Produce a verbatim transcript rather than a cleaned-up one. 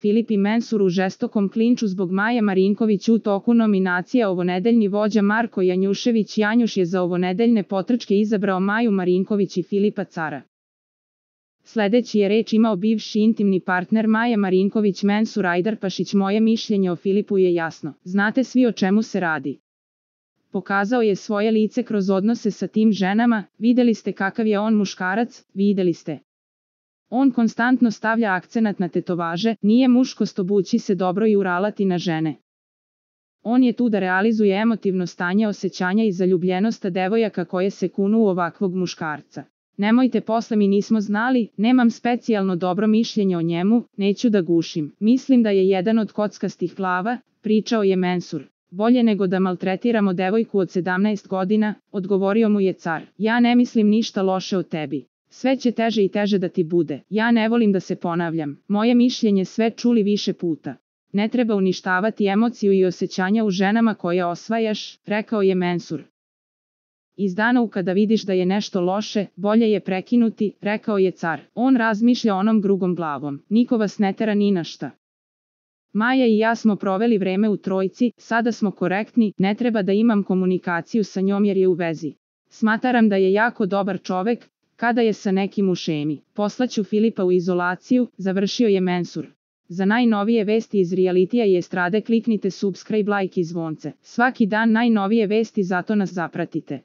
Filip i Mensur u žestokom klinču zbog Maje Marinković u toku nominacija. Ovonedeljni vođa Marko Janjušević Janjuš je za ovonedeljne potrčke izabrao Maju Marinković i Filipa Cara. Sledeći je reč imao bivši intimni partner Maje Marinković Mensur Ajdarpašić. Moje mišljenje o Filipu je jasno. Znate svi o čemu se radi. Pokazao je svoje lice kroz odnose sa tim ženama, videli ste kakav je on muškarac, videli ste. On konstantno stavlja akcenat na tetovaže, nije muškost obući se dobro i uralati na žene. On je tu da realizuje emotivno stanje osjećanja i zaljubljenost devojaka koje se kunu u ovakvog muškarca. Nemojte posle mi nismo znali, nemam specijalno dobro mišljenje o njemu, neću da gušim. Mislim da je jedan od kockastih glava, pričao je Mensur. Bolje nego da maltretiramo devojku od sedamnaest godina, odgovorio mu je Car. Ja ne mislim ništa loše o tebi. Sve će teže i teže da ti bude. Ja ne volim da se ponavljam. Moje mišljenje sve čuli više puta. Ne treba uništavati emociju i osjećanja u ženama koje osvajaš, rekao je Mensur. Iz dana u kada vidiš da je nešto loše, bolje je prekinuti, rekao je Car. On razmišlja onom drugom glavom. Niko vas ne tera ni na šta. Maja i ja smo proveli vreme u trojci, sada smo korektni, ne treba da imam komunikaciju sa njom jer je u vezi. Smatram da je jako dobar čovek, kada je sa nekim u šemi. Poslaću Filipa u izolaciju, završio je Mensur. Za najnovije vesti iz realitija i estrade kliknite subscribe, like i zvonce. Svaki dan najnovije vesti, zato nas zapratite.